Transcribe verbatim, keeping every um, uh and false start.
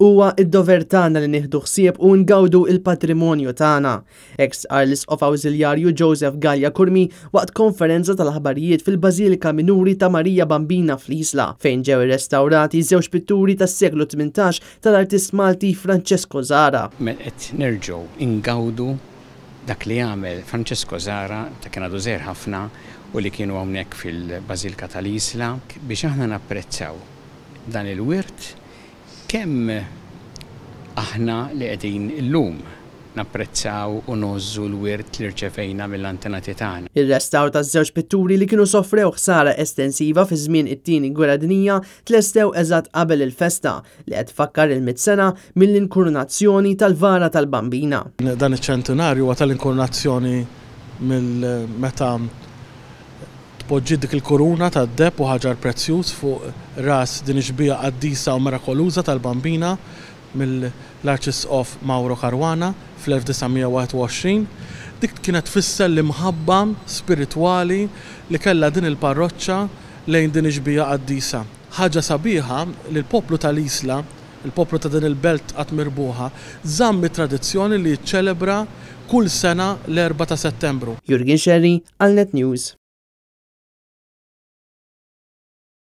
Huwa id-dover tagħna li nieħdu ħsieb u ngawdu il-patrimonju tagħna. Hekk qal l-Isqof Awżiljarju Joseph Galea Curmi waqt konferenza tal-aħbarijiet fil-Bażilika Minuri ta' Marija Bambina fl-Isla, fejn ġew irrestawrati żewġ pitturi tas-seklu tmintax tal-artist Malti Francesco Zahra. Qed nerġgħu ingawdu dak li għamel Francesco Zahra ta' kien għadu żgħir ħafna u li kienu hawnhekk fil-Bażilika tal-Isla biex aħna napprezzaw dan il-wirt, kemm aħna li qegħdin illum napprezzaw u ngħożżu l-wirt li rċevejna mill-antenati tagħna. Ir-restawr taż-żewġ pitturi, li kienu sofrew ħsara estensiva fi żmien it-Tieni Gwerra Dinjija, tlestew eżatt qabel il-festa li qed tfakkar il-mitt sena mill-inkurunazzjoni tal-vara tal-Bambina. Dan iċ-ċentinarju huwa tal-inkurunazzjoni, mill meta tpoġġi dik il-kuruna tad-deheb u ħaġar prezzjuż fuq ras din ix-xbieha qaddisa u mirakoluża tal-Bambina mill-Arċisqof Mauro Caruana fl-elf disa' mija u wieħed u għoxrin. Dik kienet tfisser l-imħabba spiritwali li kellha din il-parroċċa lejn din ix-xbieha qaddisa. Ħaġa sabiħa li l-poplu tal-Isla, il-poplu ta' din il-belt qatt mirbuħa, żamm it-tradizzjoni li jiċċelebra kull sena l-erbgħa ta' Settembru. Jurgen Sherry għal Net News.